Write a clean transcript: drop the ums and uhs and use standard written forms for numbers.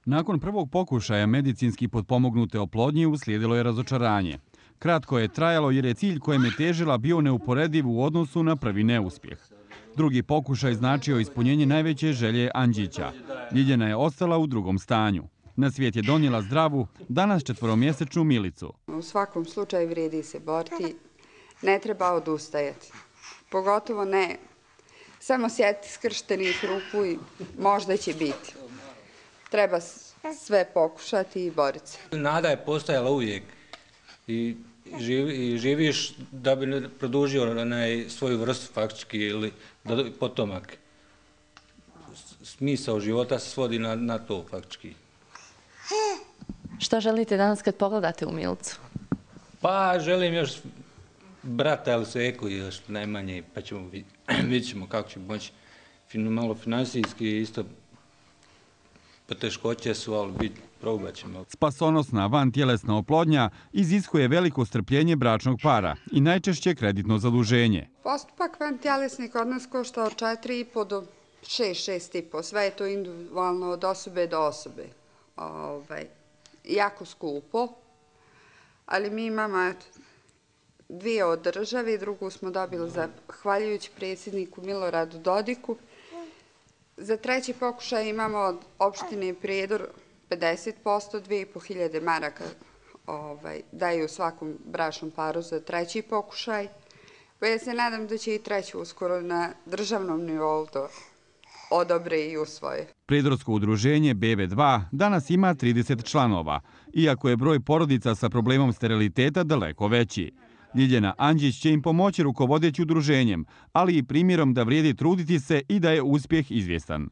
Nakon prvog pokušaja medicinski potpomognute oplodnje uslijedilo je razočaranje. Kratko je trajalo jer je cilj kojem je težila bio neuporediv u odnosu na prvi neuspjeh. Drugi pokušaj značio ispunjenje najveće želje Anđića. Ljiljana je ostala u drugom stanju. Na svijet je donijela zdravu, danas 4-mjesečnu Milicu. U svakom slučaju vrijedi se boriti, ne treba odustajati. Pogotovo ne samo sjeti skrštenih ruku i možda će biti. Treba sve pokušati i boriti se. Nada je postojala uvijek i živiš da bi produžio svoju vrstu faktički ili potomak. Smisao života se svodi na to faktički. Šta želite danas kad pogledate u Milicu? Pa želim još brata ili seku još najmanje, pa vidjet ćemo kako će moći. Malo finansijski isto poteškoće su, ali probat ćemo. Spasonosna vantjelesna oplodnja iziskuje veliko strpljenje bračnog para i najčešće kreditno zaduženje. Postupak vantjelesni kod nas košta od 4,5 do 6,5. Sve je to individualno od osobe do osobe. Jako skupo, ali mi imamo dvije od države, drugu smo dobili zahvaljujući predsjedniku Miloradu Dodiku. Za treći pokušaj imamo od opštine Prijedor 50%, 2.500 maraka daju svakom bračnom paru za treći pokušaj. Pa ja se nadam da će i treći uskoro na državnom nivou to odobre i usvoje. Prijedorsko udruženje BV2 danas ima 30 članova, iako je broj porodica sa problemom steriliteta daleko veći. Ljiljana Anđić će im pomoći rukovodeći udruženjem, ali i primjerom da vrijedi truditi se i da je uspjeh izvjestan.